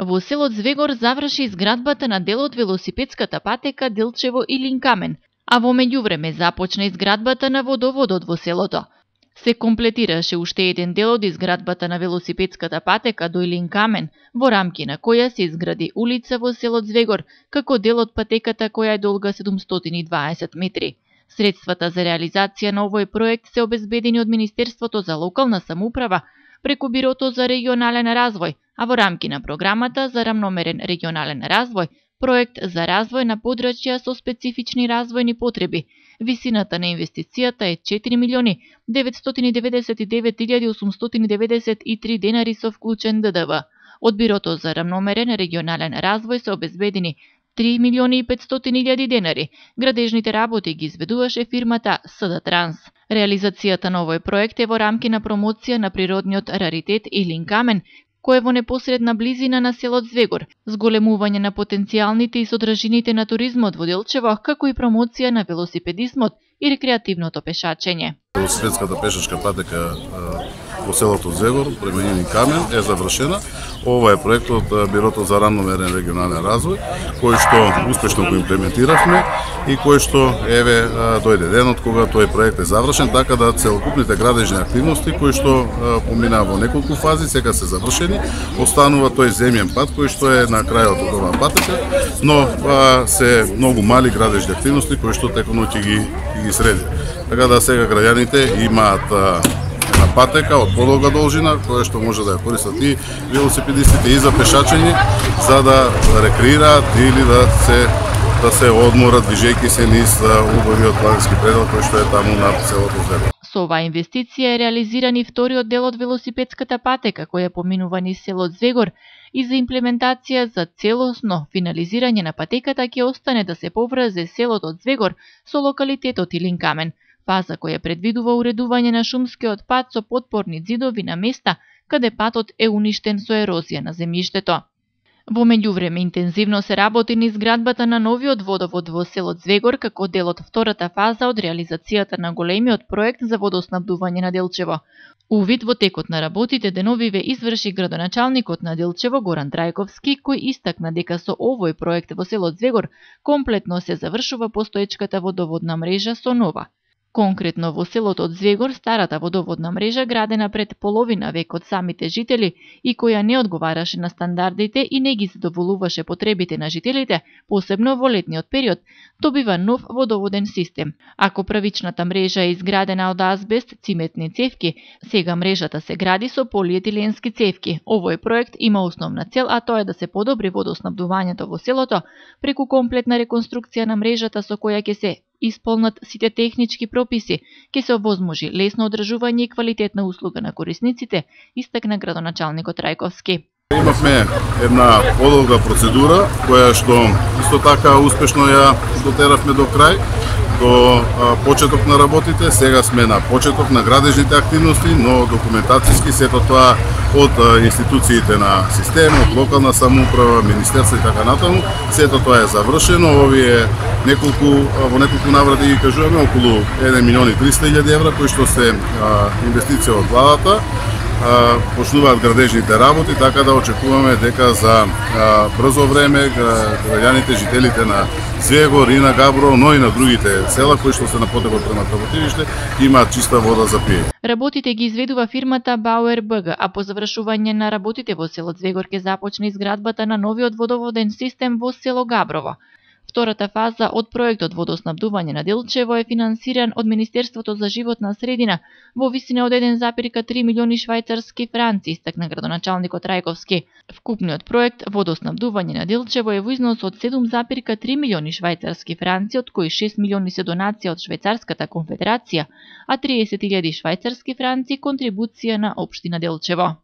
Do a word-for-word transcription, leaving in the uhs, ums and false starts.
Во село Звегор заврши изградбата на дел од велосипедската патека Делчево Илинкамен, а во меѓувреме започна изградбата на водоводот во селото. Се комплетираше уште еден дел од изградбата на велосипедската патека до Илинкамен, во рамки на која се изгради улица во село Звегор, како дел од патеката која е долга седумстотини и дваесет метри. Средствата за реализација на овој проект се обезбедени од Министерството за локална самоуправа преку Бирото за регионален развој, а во рамки на програмата за рамномерен регионален развој, проект за развој на подрачја со специфични развојни потреби. Висината на инвестицијата е четири милиони деветстотини деветдесет и девет илјади осумстотини деветдесет и три денари со вклучен Д Д В. Од Бирото за рамномерен регионален развој се обезбедени три милиони и петстотини илјади денари. Градежните работи ги изведуваше фирмата С Д Транс. Реализацијата на овој проект е во рамки на промоција на природниот раритет Илинкамен, кој е во непосредна близина на селот Звегор, зголемување на потенцијалните и содржините на туризмот во Делчево, како и промоција на велосипедизмот и рекреативното пешачење. Велосипедската пешачка патека во селото Звегор, према Илинкамен, е завршена. Ова е проект од Бирото за рамномерен регионален развој, кој што успешно го имплементиравме и кој што еве дојде денот кога тој проект е завршен, така да целокупните градежни активности кои што поминаа во неколку фази сега се завршени. Останува тој земјен пат кој што е на крајот од оваа патека, но а, се многу мали градежни активности кои што теконоќ ги ги среди. Така да сега граѓаните имаат на патека од подолга должина, која што може да ја користат и велосипедистите и за пешачење, за да рекреираат или да се да се одморат движејќи се низ убавиот планински предел кој што е таму на селото Звегор. Со оваа инвестиција е реализиран и вториот дел од велосипедската патека која поминува низ селот Звегор и за имплементација за целосно финализирање на патеката ќе остане да се поврзе селото од Звегор со локалитетот Илинкамен. Фаза која предвидува уредување на шумскиот пат со потпорни ѕидови на места каде патот е уништен со ерозија на земјиштето. Во меѓувреме интензивно се работи на изградбата на новиот водовод во селот Звегор како дел од втората фаза од реализацијата на големиот проект за водоснабдување на Делчево. Увид во текот на работите деновиве изврши градоначалникот на Делчево Горан Трајковски, кој истакна дека со овој проект во селот Звегор комплетно се завршува постоечката водоводна мрежа со нова. Конкретно во селото од Звегор, старата водоводна мрежа градена пред половина век од самите жители и која не одговараше на стандардите и не ги задоволуваше потребите на жителите, посебно во летниот период, добива нов водоводен систем. Ако првичната мрежа е изградена од азбест, циметни цевки, сега мрежата се гради со полиетиленски цевки. Овој проект има основна цел, а тоа е да се подобри водоснабдувањето во селото преку комплетна реконструкција на мрежата со која ќе се исполнат сите технички прописи, ќе се овозможи лесно одржување и квалитетна услуга на корисниците, истакна градоначалникот Трајковски. Имавме една подолга процедура, која што исто така успешно ја дотеравме до крај, до а, почеток на работите. Сега сме на почеток на градежните активности, но документацијски сето тоа од а, институциите на системот, локална самоуправа, министерство и така натаму, сето тоа е завршено. Овие неколку во неколку наврати ги кажуваме околу еден милион и триста илјади евра кои што се а, инвестиција од владата. Почнуваат градежните работи, така да очекуваме дека за а, брзо време граѓаните, жителите на Звегор и на Габрово, но и на другите села кои што се на потекот према Работилиште, имаат чиста вода за пиење. Работите ги изведува фирмата Бауер Б Г, а по завршување на работите во селот Звегор ќе започне изградбата на новиот водоводен систем во село Габрово. Втората фаза од проектот водоснабдување на Делчево е финансиран од Министерството за животна средина во висина од еден запирка три милиони швајцарски франци, истакна градоначалникот Трајковски. Вкупниот проект водоснабдување на Делчево е во износ од седум запирка три милиони швајцарски франци, од кои шест милиони се донација од Швајцарската конфедерација, а триесет илјади швајцарски франци контрибуција на општина Делчево.